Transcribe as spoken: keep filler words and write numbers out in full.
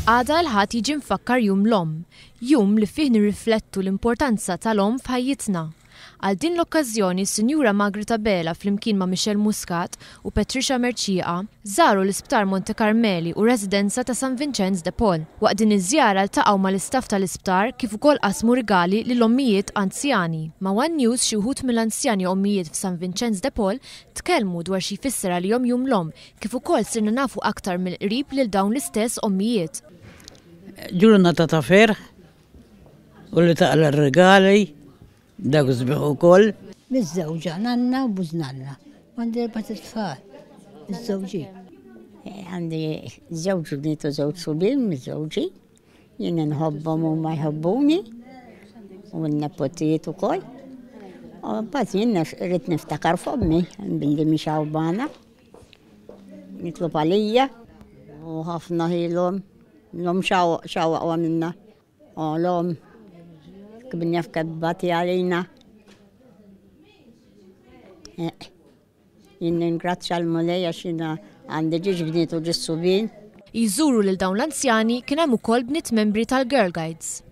Għada l-Ħadd jiġi mfakkar Jum l-Omm, jum li fih nirriflettu l-importanza tal-omm f'ħajjitna. Għal din l-okkażjoni, Sinjura Margaret Abela flimkien ma' Michelle Muscat u Patricia Mercieca żaru l-Isptar Monte Carmeli u residenza ta' San Vincenz de Paul. Waqt din iż-żjara ltaqgħu mal-istaff tal-isptar kif ukoll qasmu rigali lil ommijiet anzjani. Ma' One News, xi wħud mill-anzjani ommijiet f'San Vincenz de Paul tkellmu dwar xi jfisser għalihom Jum l-Omm, kif ukoll sirna nafu aktar mill-qrib lil dawn l-istess ommijiet. Ġurnata ta' ferħ u li taqla regali, dak sbieħ ukoll. Miżżewġa, nanna u bużnanna. Għandi erbat itfal, miżżewġin. Għandi żewġ bniet u żewġ subien miżżewġin. Jien nħobbhom u ma jħobbuni. U n-nepotijiet ukoll. U mbagħad jien rrid niftakar f'ommi billi mhix hawn. Nitlob għalija u ħafna ħilhom. L-omm x'aqwa minna. U l-omm kif jaf kebbati għalina. Jien ningrazzja l-Mulej għax jiena għandi żewġ bniet u żewġ subien. Jżuru lil dawn l-anzjani kien hemm ukoll bniet membri tal-Girl Guides.